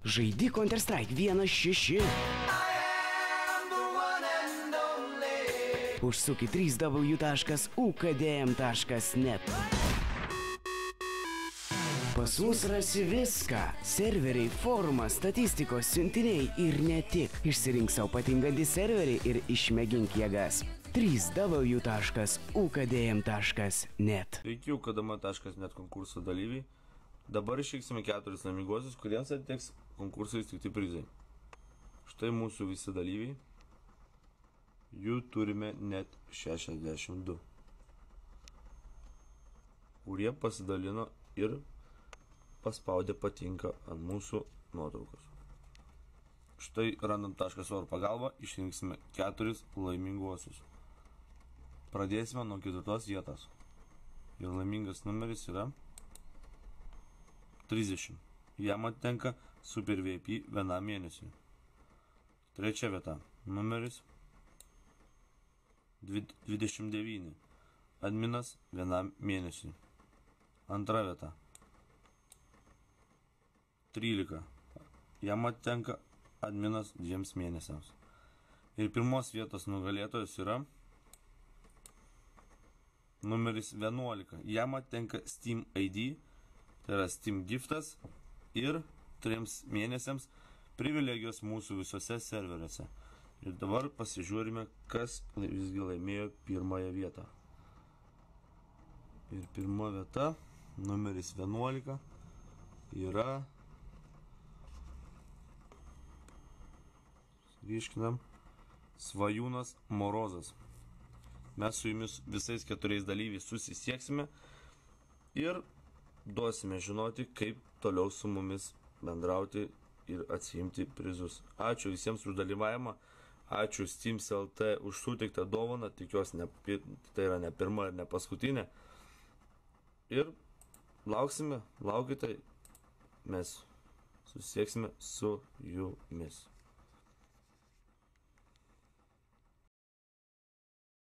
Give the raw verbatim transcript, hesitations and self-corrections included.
Žaidi Counter-Strike vienas šeši. Užsuk į trys w taškas u k d m taškas net. Pas mus rasi viską. Serveriai, forumas, statistikos, siuntiniai ir ne tik. Išsirink savo patingantį serverį ir išmėgink jėgas. trys w taškas u k d m taškas net. Sveiki, u k d m taškas net konkurso dalyviai. Dabar išrinksime keturis laiminguosius, kuriems atiteks konkursai įsteigti prizai. Štai mūsų visi dalyviai. Jų turime net šešiasdešimt du. Kurie pasidalino ir paspaudė patinka ant mūsų nuotraukos. Štai random taškas org pagalba išrinksime keturis laiminguosius. Pradėsime nuo ketvirtos vietos. Ir laimingas numeris yra trisdešimt. Jam atitenka Super V I P vienam mėnesiui. Trečia vieta. Numeris dvidešimt devyni. Adminas vienam mėnesiui. Antra vieta. trylika. Jam atitenka adminas dviems mėnesiams. Ir pirmos vietos nugalėtojas yra numeris vienuolika. Jam atitenka Steam I D, tai yra Steam giftas ir trims mėnesiams privilegijos mūsų visose serveriuose. Ir dabar pasižiūrime, kas visgi laimėjo pirmąją vietą. Ir pirma vieta, numeris vienuolika, yra, ryškinam, Svajūnas Morozas. Mes su jumis visais keturiais dalyviais susisieksime ir duosime žinoti, kaip toliau su mumis bendrauti ir atsiimti prizus. Ačiū visiems už dalyvavimą, ačiū Steams L T už suteiktą dovaną, tikiuosi ne, tai yra ne pirma ir ne paskutinė. Ir lauksime, laukite, mes susieksime su jumis.